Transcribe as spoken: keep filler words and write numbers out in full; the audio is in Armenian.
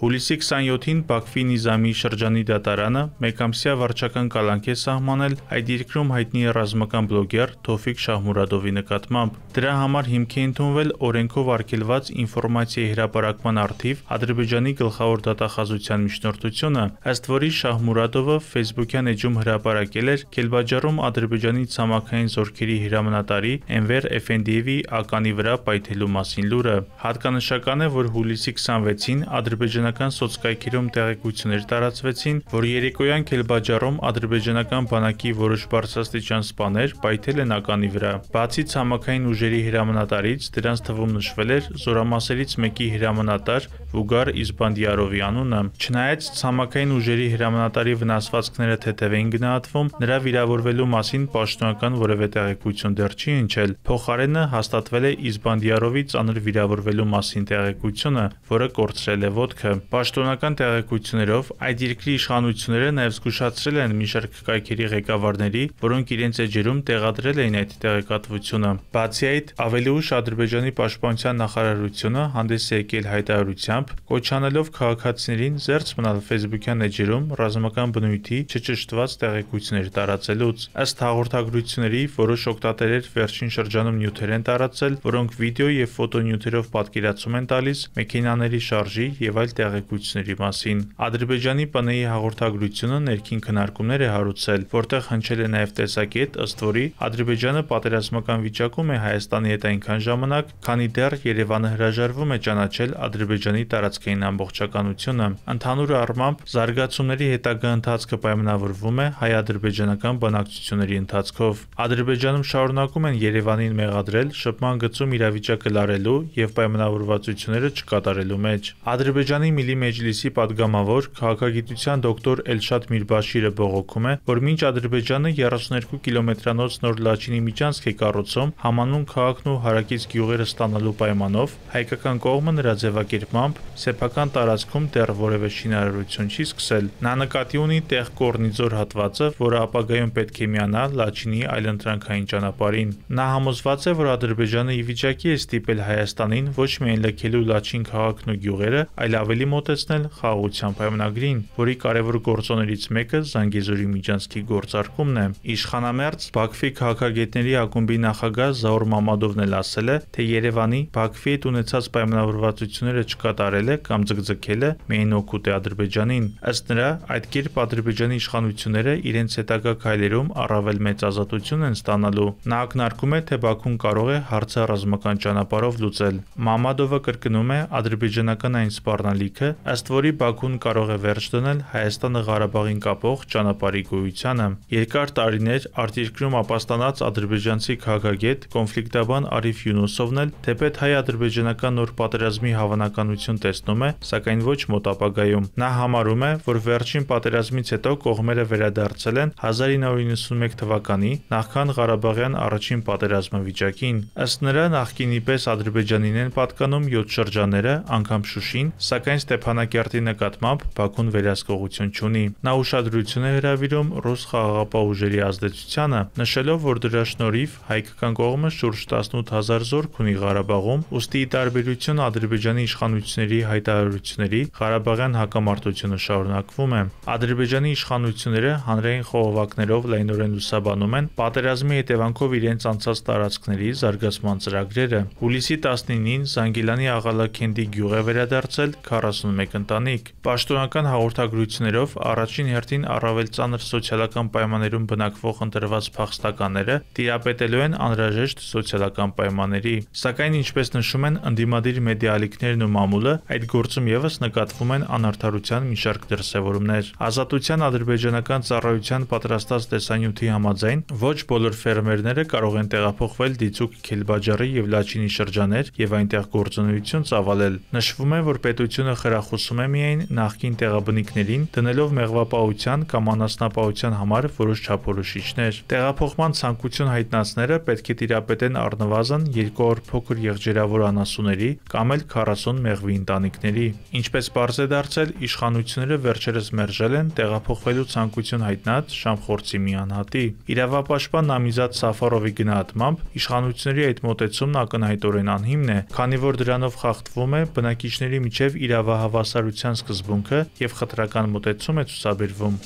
Հուլիսի քսանյոթին Բաքվի Նիզամի շրջանի դատարանը մեկամսյա վարչական կալանք է սահմանել այդ երկրում հայտնի ռազմական բլոգեր Թովֆիկ Շահմուրադովի նկատմամբ։ Դրա համար հիմք է ընդունվել օրենքով արգելված ինֆորմացիայի հրապարակման առթիվ Ադրբեջանի գլխավոր դատախազության միջնորդությունը, ըստ որի Շահմուրադովը Facebook-յան էջում հրապարակել էր Քելբաջարում Ադրբեջանի ցամաքային զորքերի հրամանատարի Էնվեր Էֆենդիևի ականի վրա պայթելու մասին լուրը։ Հատկանշական է, որ հուլիսի քսանվեցին ադրբեջանական սոցկայքերում տեղեկություններ տարածվեցին, որ երեկոյան Քելբաջարում ադրբեջանական բանակի որոշ բարձրաստիճան սպաներ պայթել են ականի վրա։ Բացի ցամաքային ուժերի հրամանատարից, դրանց թվում նշվել էր զորամասերից մեկի հրամանատար Վուգար Իզբանդիարովի անունը։ Չնայած ցամաքային ուժերի հրամանատարի վնասվածքները թեթև էին գնահատվում, նրա վիրավորվելու մասին պաշտոնական որևէ տեղեկություն դեռ չի հնչել։ Փոխարենը հաստատվել է Իզբանդիարովի ծանր վիրավորվելու մասին տեղեկությունը, որը կորցրել է ոտքը։ Պաշտոնական տեղեկություններով այդ երկրի իշխանությունները նաև զգուշացրել են մի շարք կայքերի ղեկավարների, որոնք իրենց էջերում տեղադրել էին այդ տեղեկատվությունը։ Բացի այդ, ավելի ուշ Ադրբեջանի պաշտպանության նախարարությունը հանդես է եկել հայտարարությամբ, կոչ անելով քաղաքացիներին զերծ մնալ Facebook-յան էջերում ռազմական բնույթի չճշտված տեղեկություններ տարածելուց։ Ըստ հաղորդագրությունների, որոշ օգտատերեր վերջին շրջանում նյութեր են տարածել, որոնք վիդեո եւ ֆոտոնյութերով պատկերացում են տալիս մեքենաների շարժի եւ այլ տեղեկությունների մասին։ Ադրբեջանի ՊՆ-ի հաղորդագրությունը ներքին քննարկումներ է հարուցել, որտեղ հնչել է նաեւ տեսակետ, ըստ որի Ադրբեջանը պատերազմական վիճակում է Հայաստանի հետ այնքան ժամանակ, քանի դեռ Երևանը հրաժարվում է ճանաչել Ադրբեջանի տարածքային ամբողջականությունը։ Ընդհանուր առմամբ, զարգացումների հետագա ընթացքը պայմանավորվում է հայ-ադրբեջանական բանակցությունների ընթացքով։ Ադրբեջանում շարունակում են Երևանին մեղադրել շփման գծում իրավիճակը լարելու եւ պայմանավորվածությունները չկատարելու մեջ։ Ադրբեջանի Միլի Մեջլիսի падգամավոր քաղաքագիտության դոկտոր Էլշադ Միրբաշիրը բողոքում է, որ մինչ Ադրբեջանը երեսունյոթ կիլոմետրանոց նոր Լաչինի միջանցք է կառուցում համանուն քաղաքն ու հարակից գյուղերը ստանալու պայմանով, հայկական կողմը նրա ձևակերպմամբ սեփական տարածքում դեռ որևէ շինարարություն չի սկսել։ Նա նկատի ունի տեղ Կորնիձոր հատվածը, որը ապագայում պետք է միանա Լաչինի այլընտրանքային ճանապարհին։ Նա համոզված է, որ Ադրբեջանը ի վիճակի է ստիպել Հայաստանին ոչ միայն լքելու Լաչին քաղաքն ու գյուղերը, այլ ավելի մոտեցնել խաղաղության պայմանագրին, որի կարևոր գործոններից մեկը Զանգեզուրի միջանցքի գործարկումն է։ Իշխանամերձ Բաքվի քաղաքագետների ակումբի նախագահ Զաուր Մամադովն էլ ասել է, թե Երևանի Բաքվի հետ ունեցած պայմանավորվածությունները չկատարելը կամ ձգձգելը միայն օգուտ է Ադրբեջանին։ Ըստ նրա, այդ կերպ Ադրբեջանի իշխանությունները իրենց հետագա քայլերում առավել մեծ ազատություն են ստանալու։ Նա ակնարկում է, թե Բաքուն կարող է հարցը ռազմական ճանապարհով լուծել։ Մամադովը կրկնում է ադրբեջանական այն սպառնալիքը, ըստ որի Բաքուն կարող է վերջ դնել Հայաստանը Ղարաբաղին կապող ճանապարհի գոյությանը։ Երկար տարիներ արտերկրում ապաստանած ադրբեջանցի քաղաքագետ կոնֆլիկտաբան Արիֆ Յունուսովն էլ թեպետ հայ-ադրբեջանական նոր պատերազմի հավանականություն տեսնում է, սակայն ոչ մոտ ապագայում։ Նա համարում է, որ վերջին պատերազմից հետո կողմերը վերադարձել են հազար ինը հարյուր նվաթ թվականի նախքան Ղարաբաղյան առաջին պատերազմը վիճակին։ Ըստ նրա, նախկինի պես Ադրբեջանին են պատկանում յոթ շրջանները, անգամ Շուշին, սակայն Ստեփանակերտի նկատմամբ Բաքուն վերահսկողություն չունի։ Նա ուշադրություն է հրավիրում ռուս խաղաղապահ ուժերի ազդեցությանը, նշելով, որ դրա շնորհիվ հայկական կողմը շուրջ տասնութ հազար զորք ունի Ղարաբաղում, ուստի ի տարբերություն Ադրբեջանի իշխանությունների հայտարարությունների Ղարաբաղյան հակամարտությունը շարունակվում է։ Ադրբեջանի իշխանությունները հանրային խողովակներով լայնորեն լուսաբանում են պատերազմի հետևանքով իրենց անցած տարածքների զարգացման ծրագրերը։ Հուլիսի տասնինին Զանգիլանի Աղալաքենդի գյուղ է վերադարձել քառասունմեկ ընտանիք։ Պաշտոնական հաղորդագրություններով առաջին հերթին առավել ծանր սոցիալական պայմաններում բնակվող ընտրված փախստականները տիրապետելու են անհրաժեշտ սոցիալական պայմանների։ Սակայն, ինչպես նշում են ընդդիմադիր մեդիա ալիքներն ու մամուլը, այդ գործում եւս նկատվում են անարդարության մի շարք դրսևորումներ։ Ազատության ադրբեջանական ծառայության պատրաստած տեսանյութի համաձայն ոչ բոլոր ֆերմերները կարող են տեղափոխվել դիցուք Քելբաջարի եւ Լաչինի շրջաներ եւ այնտեղ գործունեություն ծավալել։ Նշվում է, որ պետությունը խրախուսում է միայն նախկին տեղաբնիկներին դնելով մեղվապահության կամ անասնապահության համար որոշ չափորոշիչներ։ Տեղափոխման ցանկություն հայտնածները պետք է տիրապետեն առնվազն երկու օր փոքր եղջերավոր անասունների կամ էլ քառասուն մեղվի ընտանիքների։ Ինչպես պարզ է դարձել, իշխանությունները վերջերս մերժել են տեղափոխվելու ցանկություն հայտնած Շամխորձի մի անհատի։ Իրավապաշտպան Նամիզադ Սաֆարովի գնահատմամբ իշխանությունների այդ մոտեցումն ակնհայտորեն անհիմն է, քանի որ դրանով խախտվում է բնակիչների միջև իրավական ցավահավասարության սկզբունքը եւ խտրական մոտեցում է ցուցաբերվում։